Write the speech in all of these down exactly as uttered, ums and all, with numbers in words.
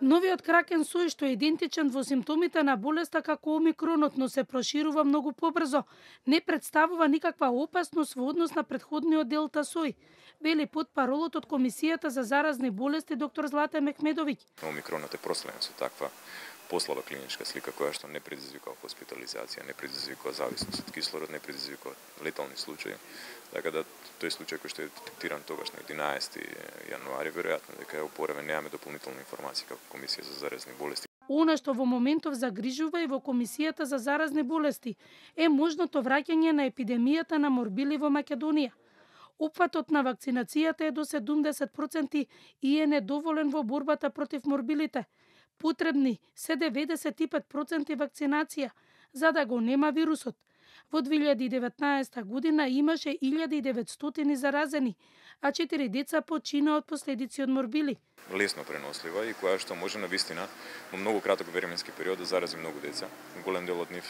Новиот кракен сој, што е идентичен во симптомите на болеста како омикронот, но се проширува многу побрзо, не представува никаква опасност во однос на претходниот делта сој, вели потпаролот од Комисијата за заразни болести доктор Злате Мехмедовиќ. Омикронот е проследен со таква послаба клиничка слика која што не предизвикува хоспитализација, не предизвикува зависност од кислород, не предизвикува летални случаи. Така да тој случај кој што е детектиран тогаш на единаесети јануари, веројатно дека е опоравен, немаме дополнителни информации како Комисија за заразни болести. Она што во моментов загрижува и во Комисијата за заразни болести е можното враќање на епидемијата на морбили во Македонија. Опфатот на вакцинацијата е до седумдесет проценти и е недоволен во борбата против морбилите. Потребни се деветдесет и пет проценти вакцинација за да го нема вирусот. Во две илјади и деветнаесета година имаше илјада и деветстотини заразени, а четири деца почина од последици од морбили. Лесно пренослива и која што може навистина во многу краток временски период да зарази многу деца. Голем дел од нив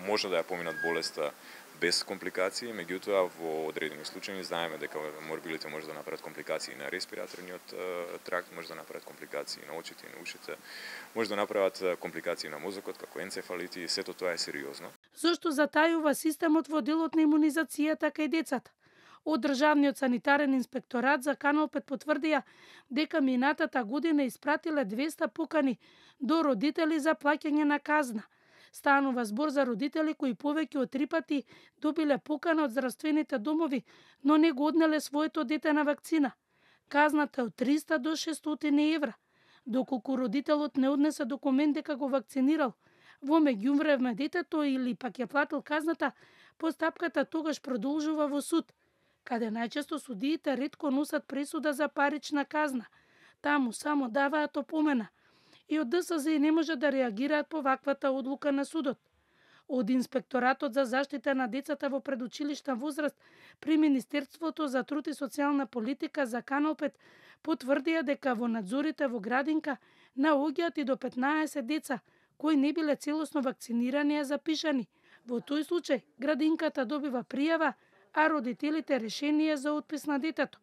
може да ја поминат болеста без компликации, меѓутоа во одредени случаи знаеме дека морбилите може да направат компликации на респираторниот тракт, може да направат компликации на очите и на ушите, може да направат компликации на мозокот како енцефалити, сето тоа е сериозно. Зошто затајува системот во делот на имунизацијата кај децата? Од Државниот санитарен инспекторат за Канал пет потврдија дека минатата година испратиле двеста покани до родители за плаќање на казна. Станува збор за родители кои повеќе од три пати добиле покана од здравствените домови, но не го однеле своето дете на вакцина. Казната е од триста до шестстотини евра. Доколку родителот не однесе документ дека го вакцинирал, во меѓувреме детето или пак ја платил казната, постапката тогаш продолжува во суд, каде најчесто судиите ретко носат пресуда за парична казна. Таму само даваат опомена. И од ДСЗ не може да реагираат по ваквата одлука на судот. Од Инспекторатот за заштита на децата во предучилишна возраст при Министерството за труд и социјална политика за Канал пет потврдија дека во надзорите во градинка наоѓаат и до петнаесет деца кои не биле целосно вакцинирани а запишани. Во тој случај градинката добива пријава, а родителите решение за отпис на детето.